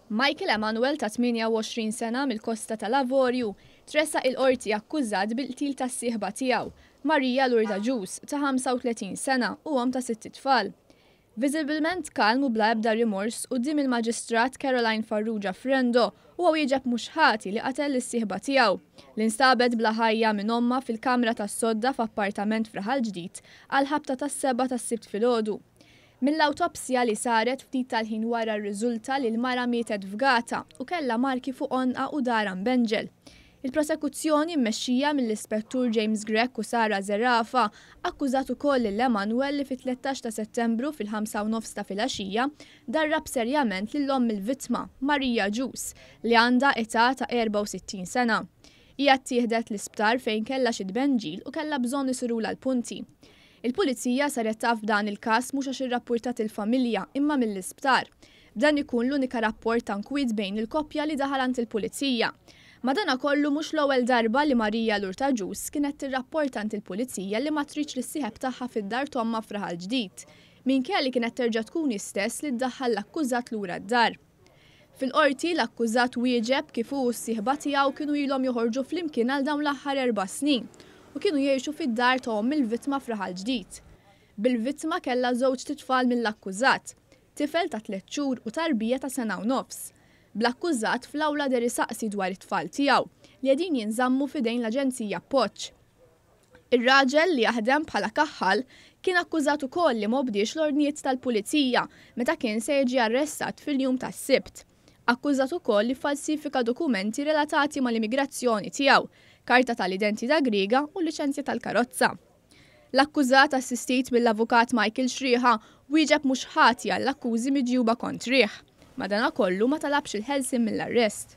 Michael Emanuel ta' 28 sena mill-Kosta tal-Avorju tressaq il-Qorti akkużat bil-qtil tas-sieħba tiegħu, Maria Lourdes Agius, ta' 35 sena u omm ta' sitt itfal. Viżibilment kalm u bla ebda rimors quddiem il-Maġistrat Caroline Farrugia Frendo huwa wieġeb mhux ħati li qatel lis-sieħba tiegħu, li nstabet bla ħajja minn ommha fil-kamra tas-sodda f'appartament f'Raħal Ġdid għall-ħabta tas-sebgħa tas-Sibt filgħodu. Mill-awtopsja li saret ftit tal-ħin wara rriżulta li l-mara mietet fgata u kellha marki fuq għonqha u darha mbenġel. Il-prosekuzzjoni mmexxija mill-Ispettur James Grech u Sara Zerafa akkużat ukoll lil Emanuel li fit-13 ta' Settembru fil-ħamsa u nofs ta' filgħaxija darrab serjament lil omm il-vittma, Maria Agius, li għandha età ta' 64 sena. Hija ttieħdet l-isptar fejn kellha xi tbenġil u kellha bżonn isirulha l-punti. Il-Pulizija saret taf b'dan il-każ mhux għax irrappurtat il-familja imma mill-isptar. B'dan ikun l-unika rapport ta' nkwiet bejn il-koppja li daħal għand il-Pulizija. Madanakollu mhux l-ewwel darba li Maria Lourdes Agius kienet tirrapporta għand il-Pulizija li ma tridx lis-sieħeb tagħha fid-dar t'ommha f'Raħal Ġdid, minkejja li kienet terġa' tkun hi stess li ddaħħal l-akkużat lura d-dar. Fil-Qorti, l-akkużat wieġeb kif hu u s-sieħba tiegħu kienu ilhom joħorġu flimkien għal dawn l-aħħar 4 snin u kienu jgħixu fid-dar ta' omm il-vittma f'Raħal Ġdid. Bil-vittma kellha żewġt itfal mill-akkużat, tifel ta' 3 xhur u tarbija ta' sena u nofs. Bl-akkużat fl-awla deher isaqsi dwar it-tfal tiegħu li qegħdin jinżammu f'idejn l-Aġenzija Appoġġ. Ir-raġel li jaħdem bħala kaħħal kien akkużat ukoll li m'obdiex l-ordnijiet tal-pulizija meta kien se jiġi arrestat fil-jum tas-Sibt. Akkużat ukoll li falsifika dokumenti relatati mal-immigrazzjoni tiegħu, karta tal-identità Griega u liċenzja tal-karozza. L-akkużat assistit mill-avukat Michael Xriħa wieġeb mhux ħati għall-akkużi miġjuba kontrih. Madanakollu ma talabx il-ħelsien mill-arrest.